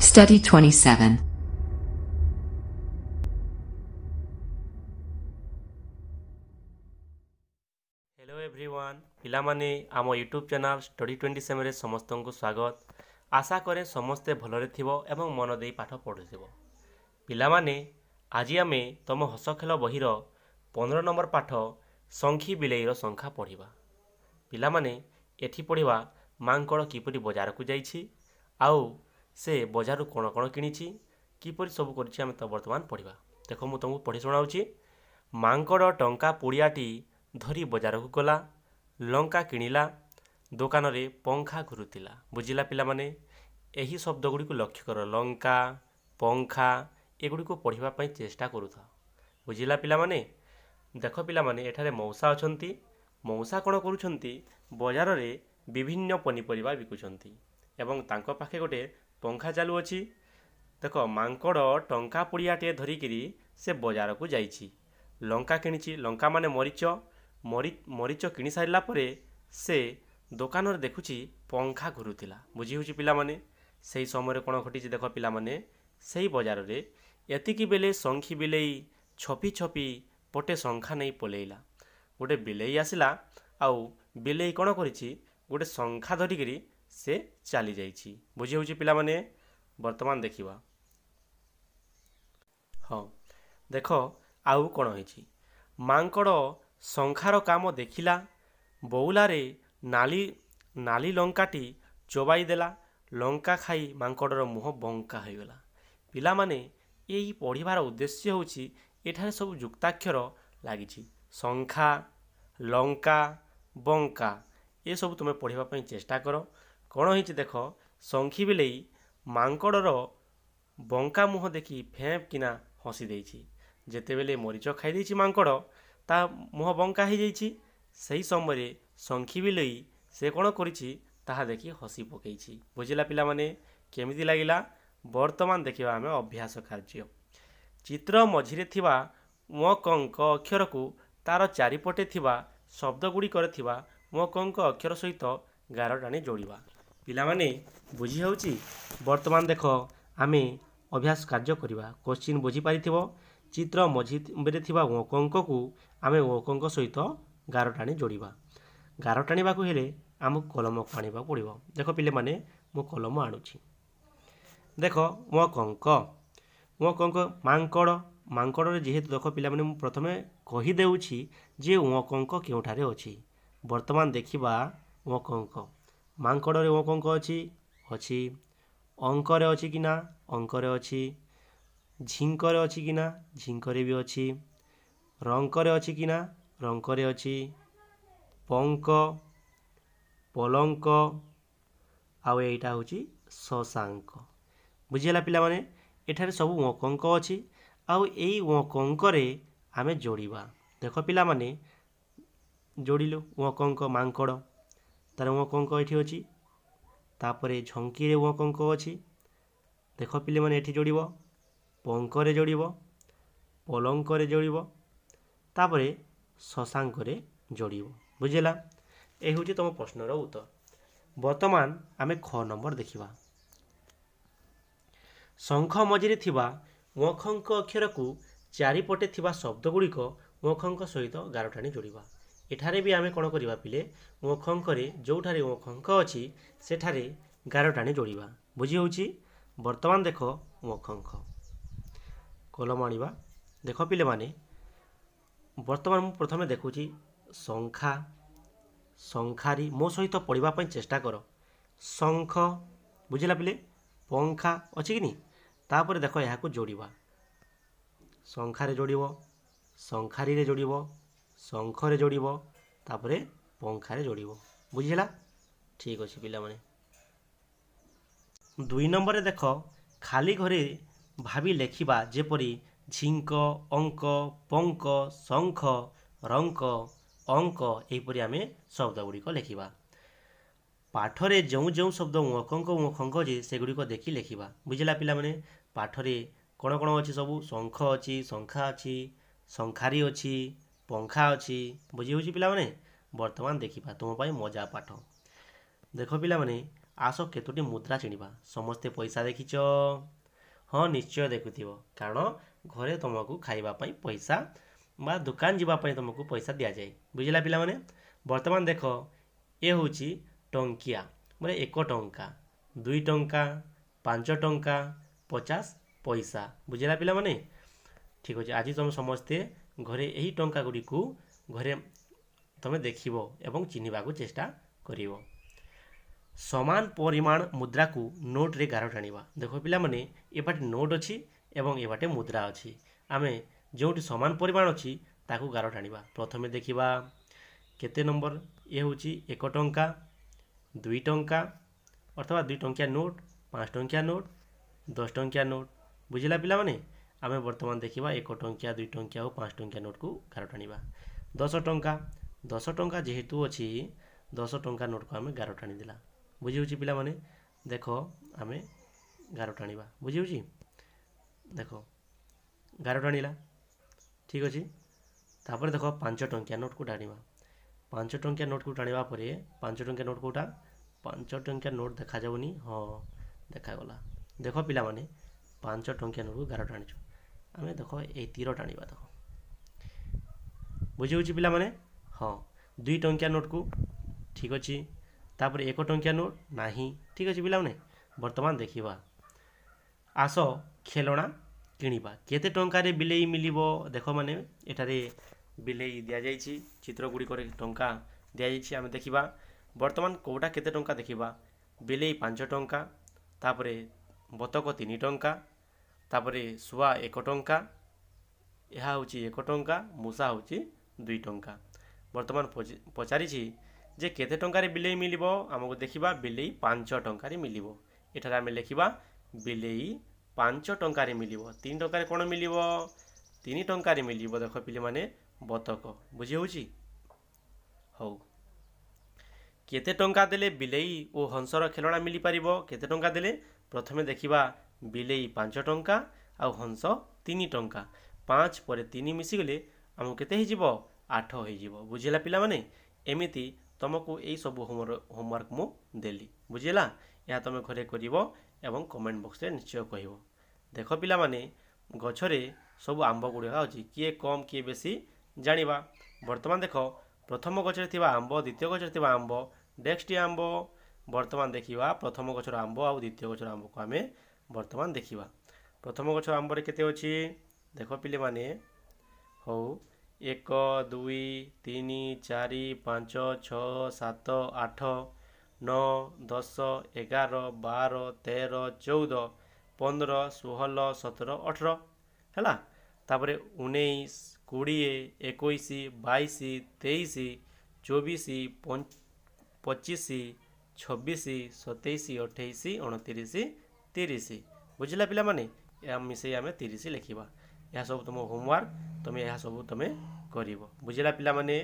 Study 27. Hello everyone, ପିଲାମାନେ, ଆମ YouTube channel study 27ରେ ସମସ୍ତଙ୍କୁ ସ୍ୱାଗତ। ଆଶା କରେ ସମସ୍ତେ ଭଲରେ ଥିବ ଏବଂ ମନ ଦେଇ ପାଠ ପଢ଼ୁଥିବ। ପିଲାମାନେ, ଆଜି ଆମେ ତୁମ ହସ ଖେଳ ବହିର 15 ନମ୍ବର ପାଠ ଶଙ୍ଖି ବିଲେଇର ଶଙ୍ଖା ପଢ଼ିବା। ପିଲାମାନେ, ଏଠି ପଢ଼ିବା ମାଙ୍କଡ଼ କିପରି ବଜାରକୁ ଯାଇଛି ଆଉ ସେ ବଜାରରୁ କ'ଣ କ'ଣ କିଣିଛି, କିପରି ସବୁ କରିଛି, ଆମେ ତ ବର୍ତ୍ତମାନ ପଢ଼ିବା। ଦେଖ, ମୁଁ ତୁମକୁ ପଢ଼ି ଶୁଣାଉଛି। ମାଙ୍କଡ଼ ଟଙ୍କା ପୁଡ଼ିଆଟି ଧରି ବଜାରକୁ ଗଲା, ଲଙ୍କା କିଣିଲା, ଦୋକାନରେ ପଙ୍ଖା ଘୁରୁଥିଲା। ବୁଝିଲା ପିଲାମାନେ? ଏହି ଶବ୍ଦ ଗୁଡ଼ିକୁ ଲକ୍ଷ୍ୟ କର, ଲଙ୍କା, ପଙ୍ଖା, ଏଗୁଡ଼ିକୁ ପଢ଼ିବା ପାଇଁ ଚେଷ୍ଟା କରୁଥାଅ। ବୁଝିଲା ପିଲାମାନେ? ଦେଖ ପିଲାମାନେ, ଏଠାରେ ମଉସା ଅଛନ୍ତି। ମଉସା କ'ଣ କରୁଛନ୍ତି? ବଜାରରେ ବିଭିନ୍ନ ପନିପରିବା ବିକୁଛନ୍ତି ଏବଂ ତାଙ୍କ ପାଖେ ଗୋଟେ ପଙ୍ଖା ଚାଲୁଅଛି। ଦେଖ, ମାଙ୍କଡ଼ ଟଙ୍କା ପୁଡ଼ିଆଟିଏ ଧରିକିରି ସେ ବଜାରକୁ ଯାଇଛି, ଲଙ୍କା କିଣିଛି। ଲଙ୍କା ମାନେ ମରିଚ। ମରିଚ କିଣି ସାରିଲା ପରେ ସେ ଦୋକାନରେ ଦେଖୁଛି ପଙ୍ଖା ଘୁରୁଥିଲା। ବୁଝି ହେଉଛି ପିଲାମାନେ? ସେହି ସମୟରେ କ'ଣ ଘଟିଛି ଦେଖ ପିଲାମାନେ, ସେଇ ବଜାରରେ ଏତିକି ବେଳେ ଶଙ୍ଖି ବିଲେଇ ଛପି ଛପି ପଟେ ଶଙ୍ଖା ନେଇ ପଲେଇଲା। ଗୋଟେ ବିଲେଇ ଆସିଲା ଆଉ ବିଲେଇ କ'ଣ କରିଛି? ଗୋଟେ ଶଙ୍ଖା ଧରିକିରି ସେ ଚାଲି ଯାଇଛି। ବୁଝି ହେଉଛି ପିଲାମାନେ? ବର୍ତ୍ତମାନ ଦେଖିବା। ହଁ, ଦେଖ ଆଉ କ'ଣ ହେଇଛି। ମାଙ୍କଡ଼ ଶଙ୍ଖାର କାମ ଦେଖିଲା, ବଉଲାରେ ନାଲି ନାଲି ଲଙ୍କାଟି ଚୋବାଇ ଦେଲା। ଲଙ୍କା ଖାଇ ମାଙ୍କଡ଼ର ମୁହଁ ବଙ୍କା ହୋଇଗଲା। ପିଲାମାନେ, ଏଇ ପଢ଼ିବାର ଉଦ୍ଦେଶ୍ୟ ହେଉଛି ଏଠାରେ ସବୁ ଯୁକ୍ତାକ୍ଷର ଲାଗିଛି, ଶଙ୍ଖା, ଲଙ୍କା, ବଙ୍କା, ଏସବୁ ତୁମେ ପଢ଼ିବା ପାଇଁ ଚେଷ୍ଟା କର। କ'ଣ ହେଇଛି ଦେଖ, ଶଙ୍ଖି ବିଲେଇ ମାଙ୍କଡ଼ର ବଙ୍କା ମୁହଁ ଦେଖି ଫେଁ କିନା ହସି ଦେଇଛି। ଯେତେବେଳେ ମରିଚ ଖାଇ ଦେଇଛି ମାଙ୍କଡ଼, ତା ମୁହଁ ବଙ୍କା ହେଇଯାଇଛି। ସେହି ସମୟରେ ଶଙ୍ଖି ବିଲେଇ ସେ କ'ଣ କରିଛି ତାହା ଦେଖି ହସି ପକେଇଛି। ବୁଝିଲା ପିଲାମାନେ, କେମିତି ଲାଗିଲା? ବର୍ତ୍ତମାନ ଦେଖିବା ଆମେ ଅଭ୍ୟାସ କାର୍ଯ୍ୟ। ଚିତ୍ର ମଝିରେ ଥିବା ୱଙ୍କ ଅକ୍ଷରକୁ ତାର ଚାରିପଟେ ଥିବା ଶବ୍ଦ ଗୁଡ଼ିକରେ ଥିବା ୱଙ୍କ ଅକ୍ଷର ସହିତ ଗାର ଟାଣି ଯୋଡ଼ିବା। ପିଲାମାନେ, ବୁଝି ହେଉଛି? ବର୍ତ୍ତମାନ ଦେଖ, ଆମେ ଅଭ୍ୟାସ କାର୍ଯ୍ୟ କରିବା। କୋଶ୍ଚିନ୍ ବୁଝିପାରିଥିବ। ଚିତ୍ର ମଝିରେ ଥିବା ୱଙ୍କକୁ ଆମେ ୱଙ୍କ ସହିତ ଗାର ଟାଣି ଯୋଡ଼ିବା। ଗାର ଟାଣିବାକୁ ହେଲେ ଆମକୁ କଲମକୁ ଆଣିବାକୁ ପଡ଼ିବ। ଦେଖ ପିଲାମାନେ, ମୁଁ କଲମ ଆଣୁଛି। ଦେଖ, ୱଙ୍କ, ୱଙ୍କ, ମାଙ୍କଡ଼। ମାଙ୍କଡ଼ରେ ଯେହେତୁ, ଦେଖ ପିଲାମାନେ, ମୁଁ ପ୍ରଥମେ କହିଦେଉଛି ଯେ ୱଙ୍କ କେଉଁଠାରେ ଅଛି। ବର୍ତ୍ତମାନ ଦେଖିବା ୱଙ୍କ। ମାଙ୍କଡ଼ରେ ୱଙ୍କ ଅଛି? ଅଛି। ଅଙ୍କରେ ଅଛି କି ନା? ଅଙ୍କରେ ଅଛି। ଝିଙ୍କରେ ଅଛି କି ନା? ଝିଙ୍କରେ ବି ଅଛି। ରଙ୍କରେ ଅଛି କି ନା? ରଙ୍କରେ ଅଛି। ପଙ୍କ, ପଲଙ୍କ, ଆଉ ଏଇଟା ହେଉଛି ଶଶାଙ୍କ। ବୁଝିହେଲା ପିଲାମାନେ? ଏଠାରେ ସବୁ ୱଙ୍କ ଅଛି ଆଉ ଏଇ ୱଙ୍କରେ ଆମେ ଯୋଡ଼ିବା। ଦେଖ ପିଲାମାନେ, ଯୋଡ଼ିଲୁ ୱଙ୍କ। ମାଙ୍କଡ଼, ତାର ୱଙ୍କ ଏଠି ଅଛି। ତାପରେ ଝଙ୍କିରେ ୱଙ୍କ ଅଛି। ଦେଖ ପିଲାମାନେ, ଏଠି ଯୋଡ଼ିବ, ପଙ୍କରେ ଯୋଡ଼ିବ, ପଲଙ୍କରେ ଯୋଡ଼ିବ, ତାପରେ ଶଶାଙ୍କରେ ଯୋଡ଼ିବ। ବୁଝିଲା? ଏ ହେଉଛି ତୁମ ପ୍ରଶ୍ନର ଉତ୍ତର। ବର୍ତ୍ତମାନ ଆମେ ଖ ନମ୍ବର ଦେଖିବା। ଶଙ୍ଖ ମଝିରେ ଥିବା ୱଖଙ୍କ ଅକ୍ଷରକୁ ଚାରିପଟେ ଥିବା ଶବ୍ଦ ଗୁଡ଼ିକ ୱଖଙ୍କ ସହିତ ଗାର ଟାଣି ଯୋଡ଼ିବା। ଏଠାରେ ବି ଆମେ କ'ଣ କରିବା ପିଲେ? ୱଖଙ୍କରେ ଯେଉଁଠାରେ ୱଖଙ୍କ ଅଛି ସେଠାରେ ଗାର ଟାଣି ଯୋଡ଼ିବା। ବୁଝି ହେଉଛି? ବର୍ତ୍ତମାନ ଦେଖ, ୱଖଙ୍କ କଲମ ଆଣିବା। ଦେଖ ପିଲାମାନେ, ବର୍ତ୍ତମାନ ମୁଁ ପ୍ରଥମେ ଦେଖୁଛି ଶଙ୍ଖା, ଶଙ୍ଖାରୀ। ମୋ ସହିତ ପଢ଼ିବା ପାଇଁ ଚେଷ୍ଟା କର। ଶଙ୍ଖ, ବୁଝିଲା ପିଲେ? ପଙ୍ଖା ଅଛି କି ନି? ତାପରେ ଦେଖ, ଏହାକୁ ଯୋଡ଼ିବା। ଶଙ୍ଖାରେ ଯୋଡ଼ିବ, ଶଙ୍ଖାରୀରେ ଯୋଡ଼ିବ, ଶଙ୍ଖରେ ଯୋଡ଼ିବ, ତାପରେ ପଙ୍ଖାରେ ଯୋଡ଼ିବ। ବୁଝିଲା? ଠିକ୍ ଅଛି ପିଲାମାନେ। 2 ନମ୍ବରରେ ଦେଖ, ଖାଲି ଘରେ ଭାବି ଲେଖିବା, ଯେପରି ଝିଙ୍କ, ଅଙ୍କ, ପଙ୍କ, ଶଙ୍ଖ, ରଙ୍କ, ଅଙ୍କ, ଏହିପରି ଆମେ ଶବ୍ଦ ଗୁଡ଼ିକ ଲେଖିବା। ପାଠରେ ଯେଉଁ ଯେଉଁ ଶବ୍ଦ ୱକଙ୍କ ୱଖଙ୍କ ଅଛି ସେଗୁଡ଼ିକ ଦେଖି ଲେଖିବା। ବୁଝିଲା ପିଲାମାନେ? ପାଠରେ କ'ଣ କ'ଣ ଅଛି ସବୁ? ଶଙ୍ଖ ଅଛି, ଶଙ୍ଖା ଅଛି, ଶଙ୍ଖାରୀ ଅଛି, ପଙ୍ଖା ଅଛି। ବୁଝି ହେଉଛି ପିଲାମାନେ? ବର୍ତ୍ତମାନ ଦେଖିବା ତୁମ ପାଇଁ ମଜା ପାଠ। ଦେଖ ପିଲାମାନେ, ଆସ କେତୋଟି ମୁଦ୍ରା ଚିହ୍ନିବା। ସମସ୍ତେ ପଇସା ଦେଖିଛ? ହଁ, ନିଶ୍ଚୟ ଦେଖୁଥିବ, କାରଣ ଘରେ ତୁମକୁ ଖାଇବା ପାଇଁ ପଇସା ବା ଦୋକାନ ଯିବା ପାଇଁ ତୁମକୁ ପଇସା ଦିଆଯାଏ। ବୁଝିଲା ପିଲାମାନେ? ବର୍ତ୍ତମାନ ଦେଖ, ଏ ହେଉଛି ଟଙ୍କିଆ, ମାନେ 1 ଟଙ୍କା, 2 ଟଙ୍କା, 5 ଟଙ୍କା, 50 ପଇସା। ବୁଝିଲା ପିଲାମାନେ? ଠିକ୍ ଅଛି। ଆଜି ତୁମେ ସମସ୍ତେ ଘରେ ଏହି ଟଙ୍କା ଗୁଡ଼ିକୁ ଘରେ ତୁମେ ଦେଖିବ ଏବଂ ଚିହ୍ନିବାକୁ ଚେଷ୍ଟା କରିବ। ସମାନ ପରିମାଣ ମୁଦ୍ରାକୁ ନୋଟ୍ରେ ଗାର ଟାଣିବା। ଦେଖ ପିଲାମାନେ, ଏବାଟେ ନୋଟ୍ ଅଛି ଏବଂ ଏବାଟେ ମୁଦ୍ରା ଅଛି। ଆମେ ଯେଉଁଠି ସମାନ ପରିମାଣ ଅଛି ତାକୁ ଗାର ଟାଣିବା। ପ୍ରଥମେ ଦେଖିବା କେତେ ନମ୍ବର। ଏ ହେଉଛି 1 ଟଙ୍କା, 2 ଟଙ୍କା ଅଥବା 2 ଟଙ୍କିଆ ନୋଟ୍, 5 ଟଙ୍କିଆ ନୋଟ୍, 10 ଟଙ୍କିଆ ନୋଟ୍। ବୁଝିଲା ପିଲାମାନେ? ଆମେ ବର୍ତ୍ତମାନ ଦେଖିବା 1 ଟଙ୍କିଆ, 2 ଟଙ୍କିଆ ଓ 5 ଟଙ୍କିଆ ନୋଟ୍କୁ ଗାର ଟାଣିବା। 10 ଟଙ୍କା, 10 ଟଙ୍କା ଯେହେତୁ ଅଛି, 10 ଟଙ୍କା ନୋଟ୍କୁ ଆମେ ଗାର ଟାଣିଦେଲା। ବୁଝିହେଉଛି ପିଲାମାନେ? ଦେଖ, ଆମେ ଗାର ଟାଣିବା। ବୁଝିହେଉଛି? ଦେଖ, ଗାର ଟାଣିଲା। ଠିକ୍ ଅଛି। ତାପରେ ଦେଖ, 5 ଟଙ୍କିଆ ନୋଟ୍କୁ ଟାଣିବା। 5 ଟଙ୍କିଆ ନୋଟ୍କୁ ଟାଣିବା ପରେ 5 ଟଙ୍କିଆ ନୋଟ୍ କେଉଁଟା? 5 ଟଙ୍କିଆ ନୋଟ୍ ଦେଖାଯାଉନି। ହଁ, ଦେଖାଗଲା। ଦେଖ ପିଲାମାନେ, 5 ଟଙ୍କିଆ ନୋଟ୍କୁ ଗାର ଟାଣିଛୁ ଆମେ। ଦେଖ, ଏଇ ତୀର ଟାଣିବା। ଦେଖ, ବୁଝିହେଉଛି ପିଲାମାନେ? ହଁ, 2 ଟଙ୍କିଆ ନୋଟ୍କୁ। ଠିକ୍ ଅଛି। ତାପରେ 1 ଟଙ୍କିଆ ନୋଟ୍ ନାହିଁ। ଠିକ୍ ଅଛି ପିଲାମାନେ, ବର୍ତ୍ତମାନ ଦେଖିବା। ଆସ ଖେଳଣା କିଣିବା। କେତେ ଟଙ୍କାରେ ବିଲେଇ ମିଳିବ? ଦେଖ ମାନେ, ଏଠାରେ ବିଲେଇ ଦିଆଯାଇଛି, ଚିତ୍ର ଗୁଡ଼ିକରେ ଟଙ୍କା ଦିଆଯାଇଛି। ଆମେ ଦେଖିବା ବର୍ତ୍ତମାନ କେଉଁଟା କେତେ ଟଙ୍କା ଦେଖିବା। ବିଲେଇ 5 ଟଙ୍କା, ତାପରେ ବତକ 3 ଟଙ୍କା, ତାପରେ ଶୁଆ 1 ଟଙ୍କା, ଏହା ହେଉଛି 1 ଟଙ୍କା, ମୂଷା ହେଉଛି 2 ଟଙ୍କା। ବର୍ତ୍ତମାନ ପଚାରିଛି ଯେ କେତେ ଟଙ୍କାରେ ବିଲେଇ ମିଳିବ। ଆମକୁ ଦେଖିବା, ବିଲେଇ 5 ଟଙ୍କାରେ ମିଳିବ। ଏଠାରେ ଆମେ ଲେଖିବା ବିଲେଇ 5 ଟଙ୍କାରେ ମିଳିବ। 3 ଟଙ୍କାରେ କ'ଣ ମିଳିବ? 3 ଟଙ୍କାରେ ମିଳିବ ଦେଖ ପିଲାମାନେ, ବତକ। ବୁଝି ହେଉଛି? ହଉ, କେତେ ଟଙ୍କା ଦେଲେ ବିଲେଇ ଓ ହଂସର ଖେଳଣା ମିଳିପାରିବ? କେତେ ଟଙ୍କା ଦେଲେ? ପ୍ରଥମେ ଦେଖିବା, ବିଲେଇ 5 ଟଙ୍କା ଆଉ ହଂସ 3 ଟଙ୍କା। 5 ପରେ 3 ମିଶିଗଲେ ଆମକୁ କେତେ ହେଇଯିବ? 8 ହେଇଯିବ। ବୁଝିଲା ପିଲାମାନେ? ଏମିତି ତୁମକୁ ଏଇସବୁ ହୋମୱାର୍କ ମୁଁ ଦେଲି। ବୁଝିଲା? ଏହା ତୁମେ ଘରେ କରିବ ଏବଂ କମେଣ୍ଟ ବକ୍ସରେ ନିଶ୍ଚୟ କହିବ। ଦେଖ ପିଲାମାନେ, ଗଛରେ ସବୁ ଆମ୍ବ ଗୁଡ଼ିକ ଅଛି, କିଏ କମ୍ କିଏ ବେଶୀ ଜାଣିବା। ବର୍ତ୍ତମାନ ଦେଖ, ପ୍ରଥମ ଗଛରେ ଥିବା ଆମ୍ବ, ଦ୍ୱିତୀୟ ଗଛରେ ଥିବା ଆମ୍ବ, ନେକ୍ସଟ ଆମ୍ବ। ବର୍ତ୍ତମାନ ଦେଖିବା ପ୍ରଥମ ଗଛର ଆମ୍ବ ଆଉ ଦ୍ୱିତୀୟ ଗଛର ଆମ୍ବକୁ ଆମେ ବର୍ତ୍ତମାନ ଦେଖିବା। ପ୍ରଥମ ଗଛ ଆମ୍ବରେ କେତେ ଅଛି? ଦେଖ ପିଲାମାନେ। ହଉ, 1, 2, 3, 4, 5, 6, 7, 8, 9, 10, 11, 12, 13, 14, 15, 16, 17, 18 ହେଲା। ତାପରେ 19, 20, 21, 22, 23, 24, 25, 26, 27, 28, 29, 30। ବୁଝିଲା ପିଲାମାନେ? ଏହା ମିଶାଇ ଆମେ 30 ଲେଖିବା। ଏହା ସବୁ ତୁମ ହୋମୱାର୍କ, ତୁମେ ଏହା ସବୁ ତୁମେ କରିବ। ବୁଝିଲା ପିଲାମାନେ?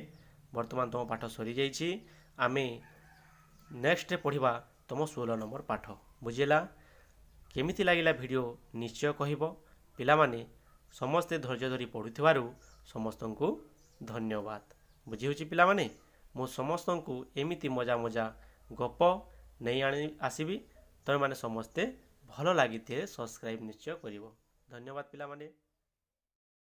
ବର୍ତ୍ତମାନ ତୁମ ପାଠ ସରିଯାଇଛି। ଆମେ ନେକ୍ସଟ ପଢ଼ିବା ତୁମ 16 ନମ୍ବର ପାଠ। ବୁଝିଲା? କେମିତି ଲାଗିଲା ଭିଡ଼ିଓ ନିଶ୍ଚୟ କହିବ। ପିଲାମାନେ ସମସ୍ତେ ଧୈର୍ଯ୍ୟ ଧରି ପଢ଼ୁଥିବାରୁ ସମସ୍ତଙ୍କୁ ଧନ୍ୟବାଦ। ବୁଝିହେଉଛି ପିଲାମାନେ? ମୁଁ ସମସ୍ତଙ୍କୁ ଏମିତି ମଜା ମଜା ଗପ ନେଇ ଆଣି ଆସିବି। ତୁମେମାନେ ସମସ୍ତେ ଭଲ ଲାଗିଥିଲେ ସବସ୍କ୍ରାଇବ୍ ନିଶ୍ଚୟ କରିବ। ଧନ୍ୟବାଦ ପିଲାମାନେ।